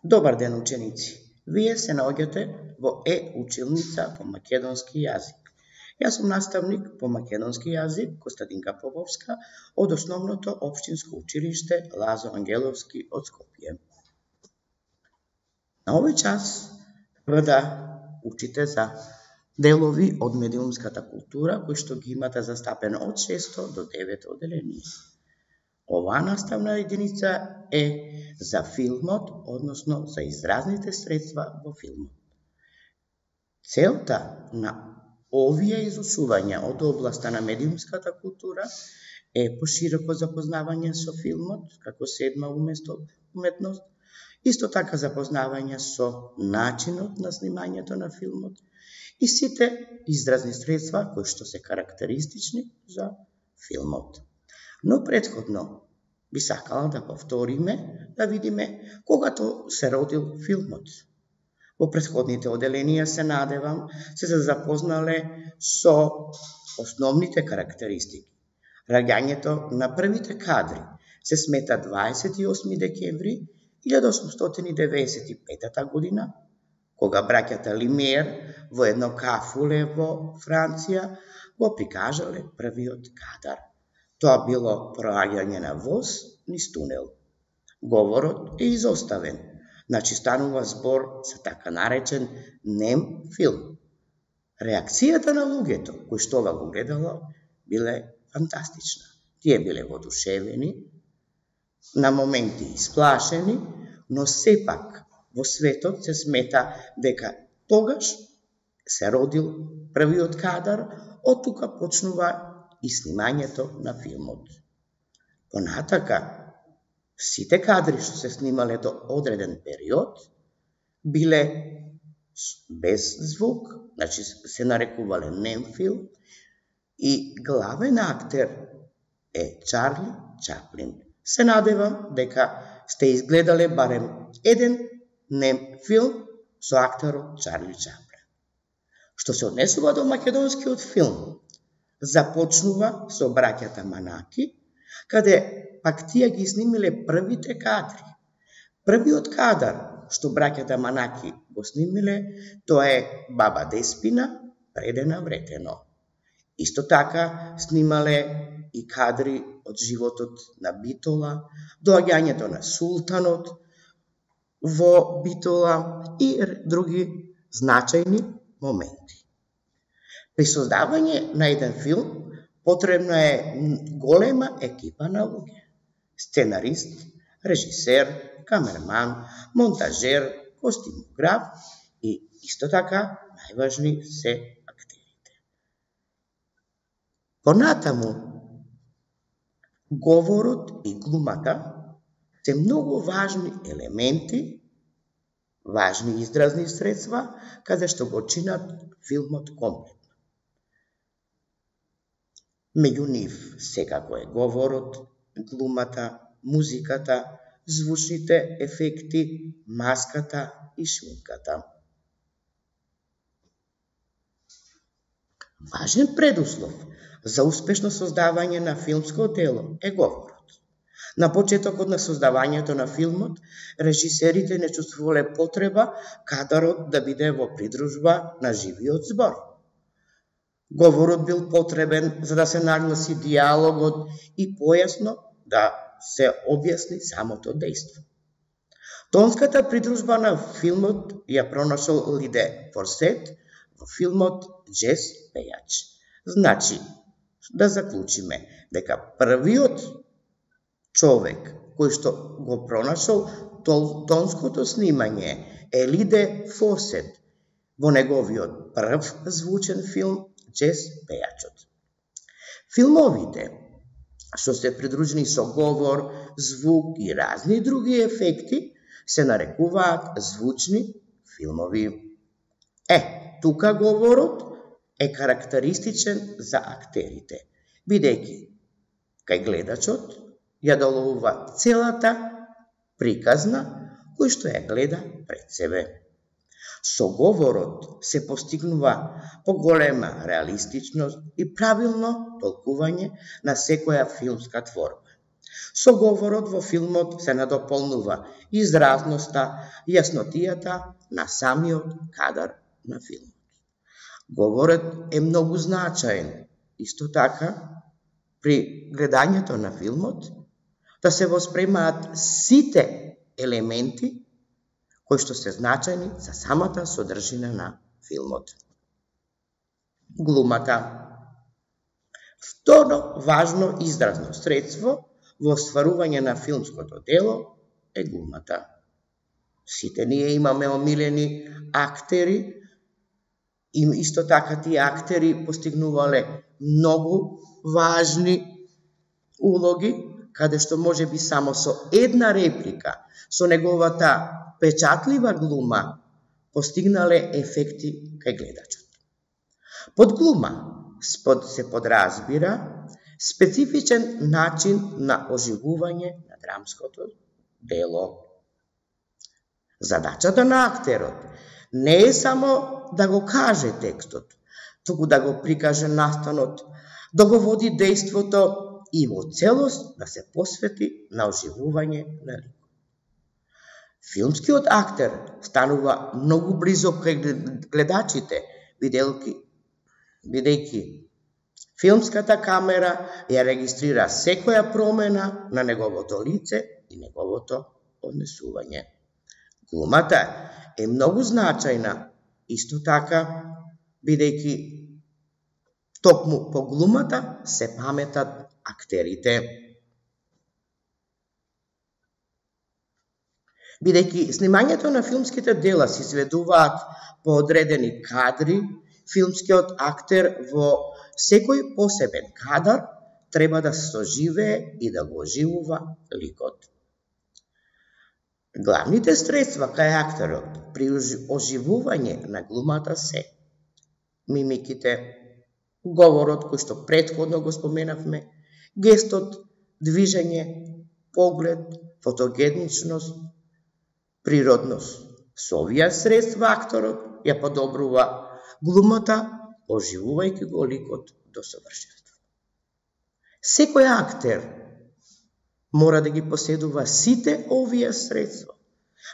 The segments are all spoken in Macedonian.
Добар ден, ученици! Вие се наоѓате во училница по македонски јазик. Јас сум наставник по македонски јазик Костадинка Поповска од Основното општинско училиште Лазо Ангеловски од Скопје. На овој час треба да учите за делови од медиумската култура кои што ги имате застапено од 6 до 9 одделение. Оваа наставна единица е за филмот, односно за изразните средства во филмот. Целта на овие изучувања од областа на медиумската култура е пошироко запознавање со филмот, како седма уметност, исто така запознавање со начинот на снимањето на филмот и сите изразни средства кои што се карактеристични за филмот. Но предходно би сакала да повториме, да видиме когато се родил филмот. Во предходните одделенија се надевам се запознале со основните карактеристики. Раѓањето на првите кадри се смета 28 декември 1895 година, кога браќата Лимиер во едно кафуле во Франција го прикажале првиот кадар. Тоа било проаѓање на воз низ тунел. Говорот е изоставен, значи станува збор за така наречен нем филм. Реакцијата на луѓето кои што ова го гледало биле фантастична. Тие биле воодушевени, на моменти исплашени, но сепак во светот се смета дека тогаш се родил првиот кадар, од тука почнува и снимањето на филмот. Понатака, сите кадри што се снимале до одреден период биле без звук, значи се нарекувале нем филм, и главен актер е Чарли Чаплин. Се надевам дека сте изгледале барем еден нем филм со актерот Чарли Чаплин. Што се однесува до македонскиот филм, започнува со браќата Манаки, каде пак тие ги снимиле првите кадри. Првиот кадар што браќата Манаки го снимиле, тоа е баба Деспина предена вретено. Исто така снимале и кадри од животот на Битола, доаѓањето на султанот во Битола и други значајни моменти. При создавање на еден филм потребна е голема екипа на луѓе. Сценарист, режисер, камерман, монтажер, костимограф и исто така најважни се актерите. Понатаму, говорот и глумата се многу важни елементи, важни изразни средства, каде што го чинат филмот комплетно. Меѓу нив секако е говорот, глумата, музиката, звучните ефекти, маската и шминката. Важен предуслов за успешно создавање на филмско дело е говорот. На почетокот на создавањето на филмот, режисерите не чувствувале потреба кадарот да биде во придружба на живиот збор. Говорот бил потребен за да се нагласи диалогот и појасно да се објасни самото дејство. Тонската придружба на филмот ја пронашол Лиде Форсет во филмот Джез пејач. Значи, да заклучиме дека првиот човек кој што го пронашол тонското снимање е Лиде Форсет во неговиот прв звучен филм Джез пејачот. Филмовите што се придружени со говор, звук и разни други ефекти се нарекуваат звучни филмови. Тука говорот е карактеристичен за актерите, бидејќи кај гледачот ја доловува целата приказна кој што ја гледа пред себе. Со говорот се постигнува поголема реалистичност и правилно толкување на секоја филмска творба. Со говорот во филмот се надополнува изразноста, јаснотијата на самиот кадар на филмот. Говорот е многу значаен. Исто така, при гледањето на филмот, да се воспремаат сите елементи кои што се значајни за самата содржина на филмот. Глумата. Второ важно изразно средство во остварување на филмското дело е глумата. Сите ние имаме омилени актери, и исто така тие актери постигнувале многу важни улоги, каде што може би само со една реплика, со неговата печатлива глума, постигнале ефекти кај гледачот. Под глума се подразбира специфичен начин на оживување на драмското дело. Задачата на актерот не е само да го каже текстот, туку да го прикаже настанот, да го води дејството и во целост да се посвети на оживување на ликот. Филмскиот актер станува многу близок кај гледачите, бидејќи филмската камера ја регистрира секоја промена на неговото лице и неговото однесување. Глумата е многу значајна, исто така, бидејќи токму по глумата се паметат актерите. Бидејќи снимањето на филмските дела се изведуваат по одредени кадри, филмскиот актер во секој посебен кадар треба да се соживее и да го оживува ликот. Главните средства кај актерот при оживување на глумата се мимиките, говорот кој што претходно го споменавме, гестот, движење, поглед, фотогеничност, природност. Со овие средства акторот ја подобрува глумата, оживувајќи го ликот до совршенство. Секој актер мора да ги поседува сите овие средства,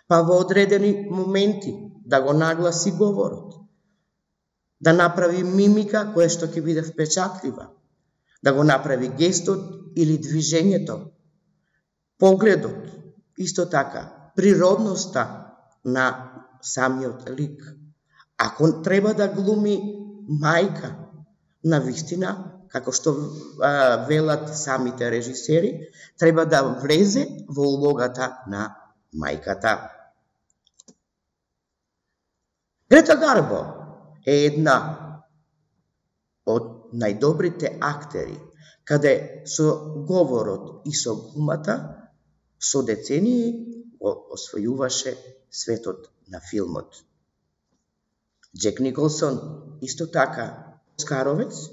па во одредени моменти да го нагласи говорот, да направи мимика која што ќе биде впечатлива, да го направи гестот или движењето, погледот, исто така, природноста на самиот лик. Ако треба да глуми мајка, навистина, како што велат самите режисери, треба да влезе во улогата на мајката. Грета Гарбо е една од најдобрите актери, каде со говорот и со глумата со децении го освојуваше светот на филмот. Џек Николсон, исто така, оскаровец,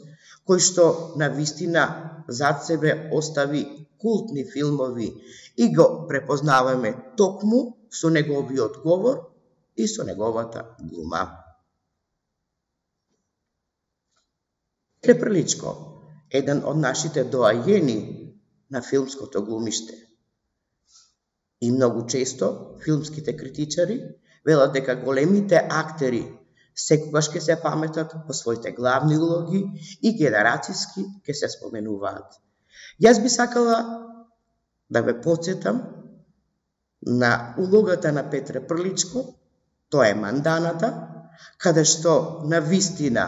кој што навистина зад себе остави култни филмови и го препознаваме токму со неговиот говор и со неговата глума. Петре Прличко, еден од нашите доајени на филмското глумиште. И многу често филмските критичари велат дека големите актери секогаш ќе се паметат по своите главни улоги и генерацијски ќе се споменуваат. Јас би сакала да ве потсетам на улогата на Петре Прличко, тоа е Манданата, каде што навистина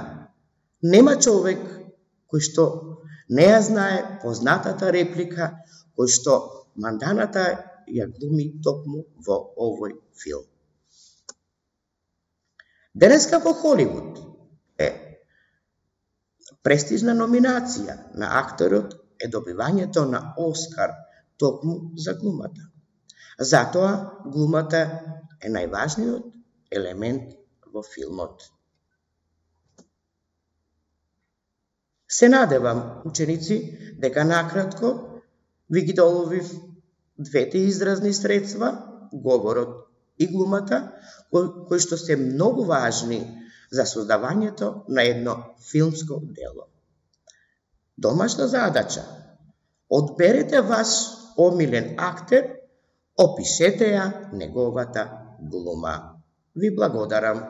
нема човек кој што не ја знае познатата реплика кој што Манданата ја глуми токму во овој филм. Денеска во Холивуд е престижна номинација на акторот е добивањето на Оскар токму за глумата. Затоа глумата е најважниот елемент во филмот. Се надевам, ученици, дека накратко ви ги доловив двете изразни средства, говорот и глумата, кои што се многу важни за создавањето на едно филмско дело. Домашна задача. Одберете ваш омилен актер, опишете ја неговата глума. Ви благодарам.